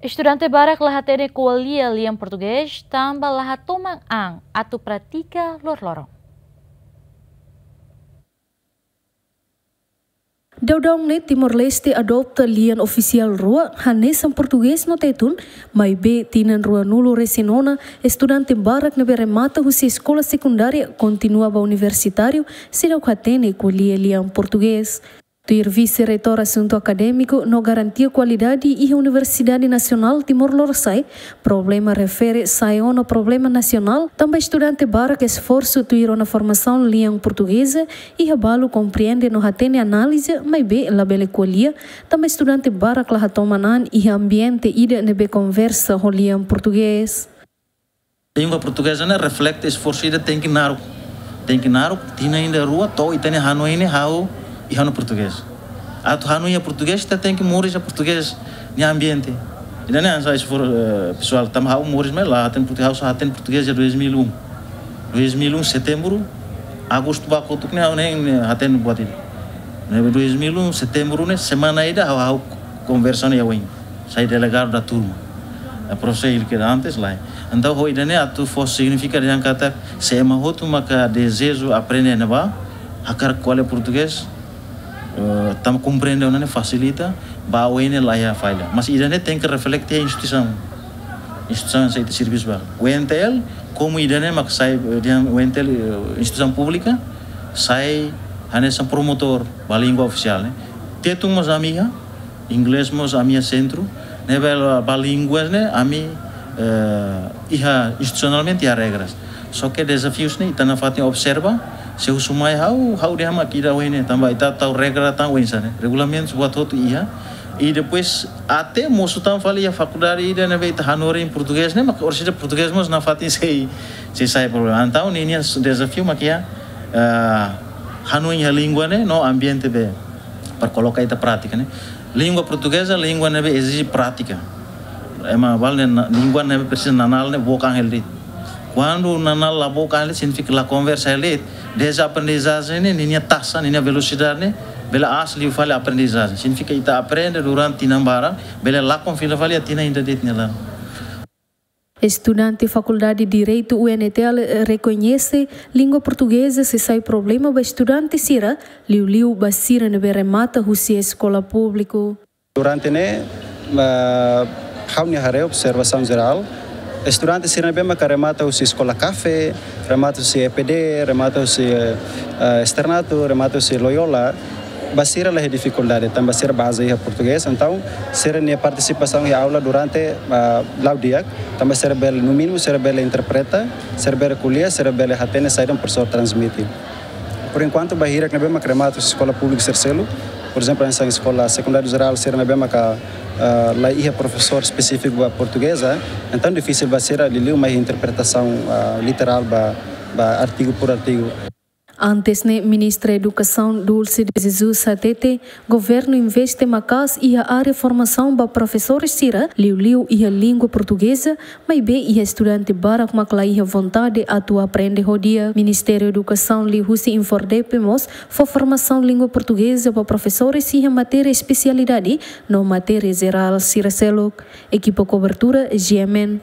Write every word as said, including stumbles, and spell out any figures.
Estudante barak la hatene ko'alia lian portugés, tanba la hatoman an atu pratika loroloron. Daudaun ne'e Timor-Leste adota lian ofisiál rua, hanesan portugés no tetun, maibé tinan ruanulu-resin-ona, estudante barak ne'ebé remata husi eskola sekundária kontinua ba universitáriu, seidauk hatene ko'alia lian portugés. Tuir Vise-Reitór Asuntu Akadémiku no Garantia Kualidade iha Universidade Nasionál Timor Lorosa'e, problema refere sai ona problema nasionál, tanba estudante barak esforsu tuir ona formasaun lian portugeza, iha balu komprende no hatene análize, maibé labele ko'alia, tanba estudante barak la hatoman an iha ambiente ida ne'ebé konversa ho lian portugés. Língua portugeza ne'e reflete esforsu ida tenke naruk. Tenke naruk, tinan ida rua, to'o ita-nia hanoin ne'e hahú iha ona portugés. Atu hanoin iha portugés, ita tenke moris iha portugés nia ambiente. Ida-ne'e hanesan esforsu, eh, pesoál, tanba ha'u moris mai la hatene portugés, ha'u só hatene portugés iha dois mil e um. Dois mil e um, setembru, agostu ba kotuk ne'e ha'u ne'e, ne'e hatene buat ida. Ne'e dois mil e um, setembru ne'e, semana ida ha'u, ha'u konversa ona iha oin. Sai delegadu da turma. A profesór Ilker antes lae. Entaun, ho ida-ne'e atu fó signifika dehan katak se ema hotu maka dezeju aprende ne'ebá, hakarak ko'alia portugés, eh, tanba komprende ona ne'e fasilita, ba oin ne'e la iha falla. Mas ida-ne'e tenke reflete iha instituisaun. Instituisaun sai ita servisu ba. U N T L, komu ida-ne'e mak sai, eh, dehan U N T L, eh, instituisaun públika, sai hanesan promotór ba língua ofisiál, ne'e. Tetun mós ami iha, inglés mós ami iha sentru, ne'ebé ba língua ne'e ami, eh, iha institusionalmente iha regras. Só ke dezafius ne'e ita nafatin observa, se husu mai ha'u, ha'u dehan mak ida oin ne'e, tanba ita tau regra tan oinsá ne'e. Regulamentus buat hotu iha. I depois até mosu tan fali iha fakuldade ida ne'ebé ita hanorin portugés ne'e, mak orsida portugés mós nafatin sei, sei sai problema. Entaun ninia dezafiu mak iha, eh, hanoin iha língua ne'e, no ambiente be para koloka ita prátika ne'e. Língua portugeza, língua ne'ebé ezije prátika. Ema balu ne'e na-, língua ne'ebé presiza nanál ne'e book an hela de'it. Kuandu nanál la book an hela de'it, signifika la konversa hela de'it. Dezde aprendizajen ne'e, ninia taxa, ninia velosidade ne'e, bele aas liu fali aprendizajen. Signifika ita aprende durante tinan barak, bele lakon fila fali iha tinan ida de'it nia laran. Estudante Fakuldade Direitu U N T L rekoñese língua portugeza sei sai problema ba estudante sira, liuliu ba sira ne'ebé remata husi eskola públiku. Durante ne'e, ah, ha'u-nia haree observasaun jerál, estudante sira ne'ebé maka remata husi eskola CAFE, remata husi E P D, remata husi, eh, eh, Externato, remata husi Loyola, ba sira la iha difikuldade, tanba sira bazeia iha portugés, entaun sira-nia partisipasaun iha aula durante, ah, la'o di'ak, tanba sira bele, no mínimu, sira bele interpreta, sira bele ko'alia, sira bele hatene saida mak profesór transmite. Por enkuantu, ba hirak ne'ebé mak remata husi eskola públika sira seluk, por ezemplu, hanesan eskola sekundáriu jerál sira ne'ebé maka, ah, la iha profesór espesífiku ba portugeza, entaun difisil ba sira liuliu mai interpretasaun, ah, literál ba, ba artigu por artigu. Antes ne'e, Ministra Edukasaun Dulce de Jesus hatete, governu investe maka'as iha área formasaun ba profesores sira, liuliu iha língua portugeza, maibé iha estudante barak mak la iha vontade atu aprende ho di'ak. Ministériu Edukasaun liuhusi INFORDEPE mós fó formasaun língua portugeza ba profesores iha matéria espesialidade no matéria jerál sira seluk. Ekipa kobertura, G M N.